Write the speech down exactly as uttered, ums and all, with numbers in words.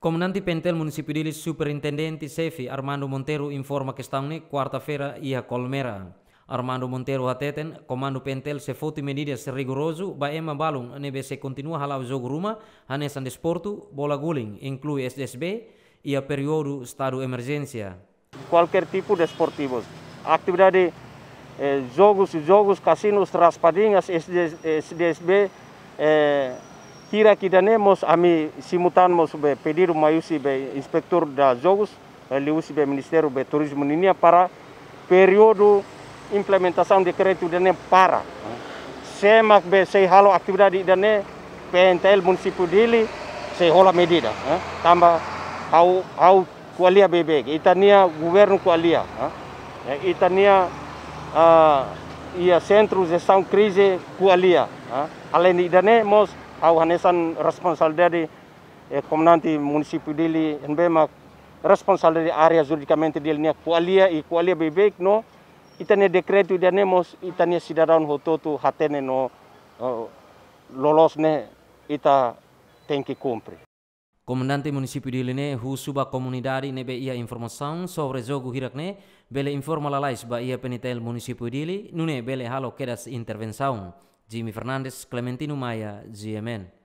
Komandante PNTL Munisípiu Dili, Superintendente Xefe Armando Monteiro informa kestaun ne'e kuarta-feira iha Colmera. Armando Monteiro hateten, Komandu PNTL sei foti medidas rigorozu ba ema balun ne'ebé sei kontinua hala'o jogu ruma, hanesan desportu, bola guling, inklui SDSB, iha períodu estadu emerjénsia. Kualkér tipu desportivu. Atividade, eh, jogus, jogus, kasinus, raspadinhas, SDSB, eh, hirak ida-ne'e mós ami simu tan mós be pedidu mai husi be inspetór da jogus, eh, liuhusi be Ministériu be Turizmu ninia para períodu implementasaun dekretu ida-ne'e para. Sé mak be sei halo atividade ida-ne'e, PNTL Munisípiu Dili sei hola medida, eh. Tanba ha'u, ha'u ko'alia beibeik, ita-nia governu ko'alia, eh. Eh, ita-nia, ah, iha Sentru Jestaun Krize ko'alia, eh. Aleinde ida-ne'e mós ha'u hanesan responsabilidade, eh, Komandante Munisípiu Dili, ne'ebé mak responsabilidade área juridikamente Dili nian ko'alia, i ko'alia beibeik no ita-nia dekretu ida-ne'e mós ita-nia sidadaun hotu-hotu hatene no, eh, loloos ne'e ita tenke kumpre. Komandante Munisípiu Dili ne'e husu ba komunidade ne'ebé iha informasaun sobre jogu hirak ne'e, bele informa lalais ba iha PNTL Munisípiu Dili, nune'e bele halo kedas intervensaun. Jimmy Fernandes, Clementino Maia, GMN.